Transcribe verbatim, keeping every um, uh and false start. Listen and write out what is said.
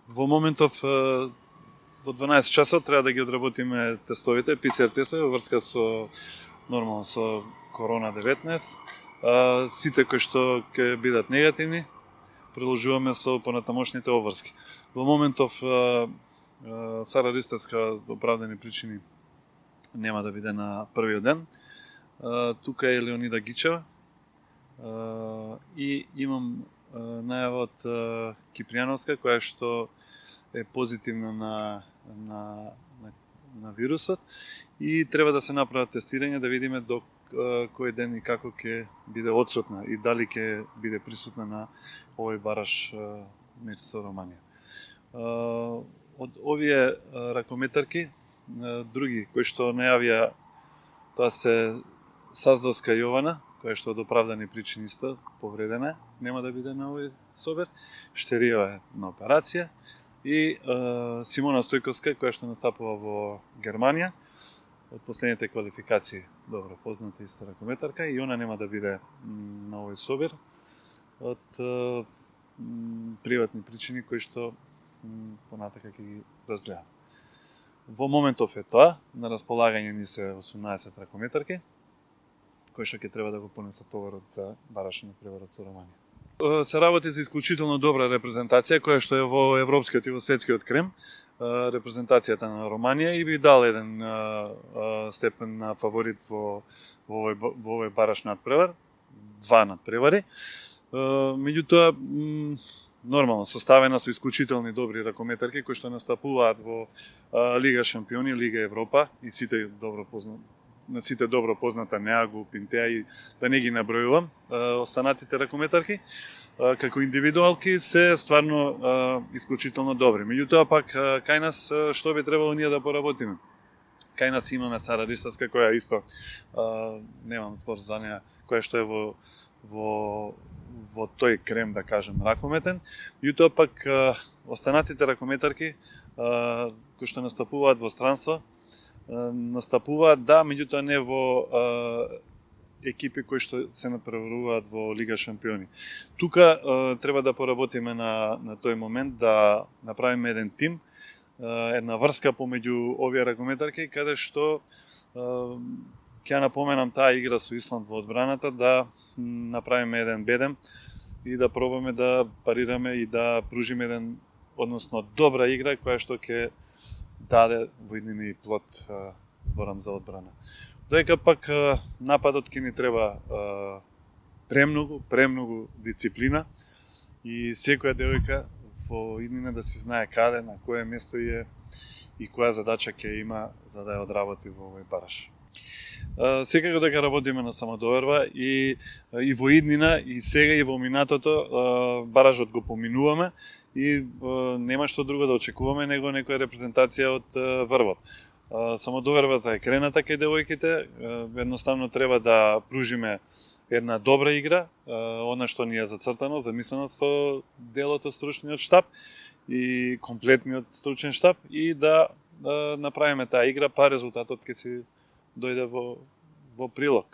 Во моментов во дванаесет часот треба да ги одработиме тестовите, пи си ар тестови во врска со нормално со корона деветнаесет. Сите кои што ќе бидат негативни, продолжуваме со понатамошните обврски. Во моментов Сара Ристевска од оправдани причини нема да биде на првиот ден. Тука е Леонида Гичева и имам најава од Кипријановска, која што е позитивна на, на, на, на вирусот и треба да се направат тестирање да видиме до кој ден и како ќе биде одсутна и дали ќе биде присутна на овој бараш меч со Романија. Од овие ракометарки, други кои што најавија, тоа се Саздовска Јована, која што од оправдани причини исто повредена, нема да биде на овој собер. Штериева е на операција и е, Симона Стојковска, која што настапува во Германија од последните квалификации, добро позната исто ракометарка, и она нема да биде на овој собер од е, приватни причини кои што понатака ќе ги разгледам. Во моментов е тоа, на располагање ни се осумнаесет ракометарки, кои што ќе треба да го понесат товарот за барашен преварот со Романија. Се работи за исклучително добра репрезентација, која што е во европскиот и во светскиот крем, репрезентацијата на Романија, и би дал еден степен на фаворит во, во, овој, во овој бараш надпревар, два надпревари. Меѓутоа, нормално составена со исклучителни добри ракометарки кои што настапуваат во Лига Шампиони, Лига Европа и сите добро познати на сите добро позната Неагу, Пинтеа и да не ги набројувам останатите ракометарки, како индивидуалки се стварно исклучително добри. Меѓутоа пак кај нас што би требало ние да поработиме? Кај нас имаме Сара Ристевска, која исто немам збор за неа, која што е во во во тој крем, да кажем, ракометен. Меѓутоа пак останатите ракометарки кои што настапуваат во странство настапуваат, да, меѓутоа не во е, екипи кои што се надпреваруваат во Лига Шампиони. Тука е, треба да поработиме на, на тој момент, да направиме еден тим, е, една врска помеѓу овие ракометарки, каде што е, ќе напоменам таа игра со Исланд во одбраната, да направиме еден бедем и да пробаме да парираме и да пружиме еден, односно добра игра, која што ќе даде во иднина и плод, зборам за одбрана. Доека пак нападот ќе ни треба премногу, премногу дисциплина и секоја девојка во иднина да си знае каде, на кое место е и која задача ќе има за да ја одработи во овој бараш. Секако дека работиме на самодоверба и, и во иднина, и сега, и во минатото баражот го поминуваме и е, нема што друго да очекуваме него некоја репрезентација од е, врвот. Е, самодовербата е крената кај девојките, е, едноставно треба да пружиме една добра игра, е, она што ни е зацртано, замислено со делото стручниот штаб и комплетниот стручен штаб и да, да направиме таа игра, па резултатот ќе си дојде во, во прилог.